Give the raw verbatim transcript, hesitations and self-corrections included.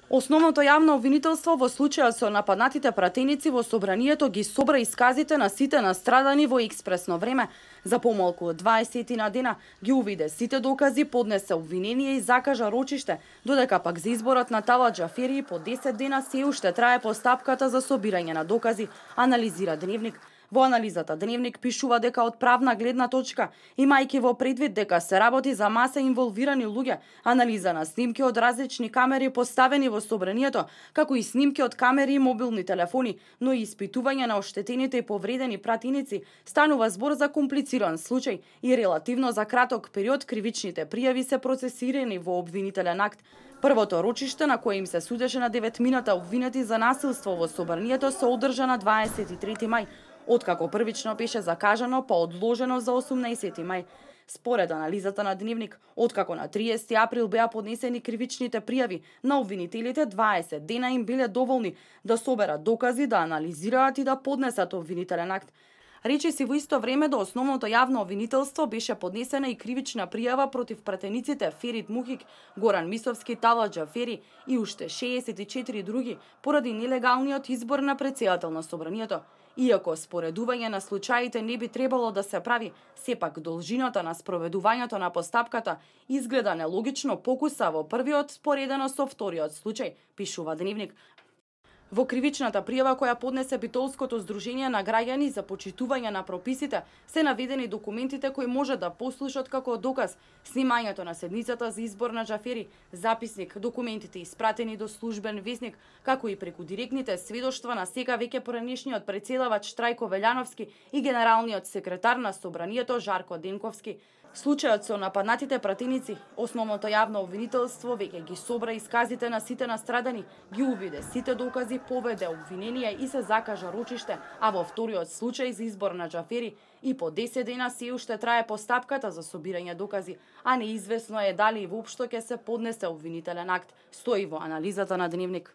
Основното јавно обвинителство во случајот со нападнатите пратеници во собранието ги собра исказите на сите настрадани во експресно време. За помалку од дваесет дена ги увиде сите докази, поднесе обвинение и закажа рочиште, додека пак за изборот на Талат Џафери по десет дена се уште трае постапката за собирање на докази, анализира Дневник. Во анализата Дневник пишува дека од правна гледна точка, имајќи во предвид дека се работи за маса инволвирани луѓе, анализа на снимки од различни камери поставени во собранието, како и снимки од камери и мобилни телефони, но и испитување на оштетените и повредени пратеници, станува збор за комплициран случај и релативно за краток период кривичните пријави се процесирани во обвинителен акт. Првото рочиште на кое им се судеше на деветмината обвинети за насилство во собранието се одржа на дваесет и трети мај, откако првично беше закажано па одложено за осумнаесети мај. Според анализата на Дневник, откако на триесети април беа поднесени кривичните пријави, на обвинителите дваесет дена им биле доволни да соберат докази, да анализираат и да поднесат обвинителен акт. Речиси во исто време до основното јавно обвинителство беше поднесена и кривична пријава против пратениците Ферит Мухик, Горан Мисовски, Талат Џафери и уште шеесет и четири други поради нелегалниот избор на претседател на собранието. Иако споредување на случаите не би требало да се прави, сепак должината на спроведувањето на постапката изгледа нелогично покуса во првиот споредено со вториот случај, пишува Дневник. Во кривичната пријава која поднесе Битолското здружение на граѓани за почитување на прописите, се наведени документите кои може да послужат како доказ: снимањето на седницата за избор на Џафери, записник, документите испратени до службен весник, како и преку директните сведоштва на сега веќе поранешниот претседавач Трајко Велјановски и генералниот секретар на собранието Жарко Денковски. Случајот со нападнатите пратеници, основното јавно обвинителство веќе ги собра исказите на сите настрадани, ги увиде сите докази, поведе обвинение и се закажа рочиште, а во вториот случај за избор на Џафери и по десет дена се уште трае постапката за собирање докази, а неизвестно е дали и воопшто ќе се поднесе обвинителен акт, стои во анализата на Дневник.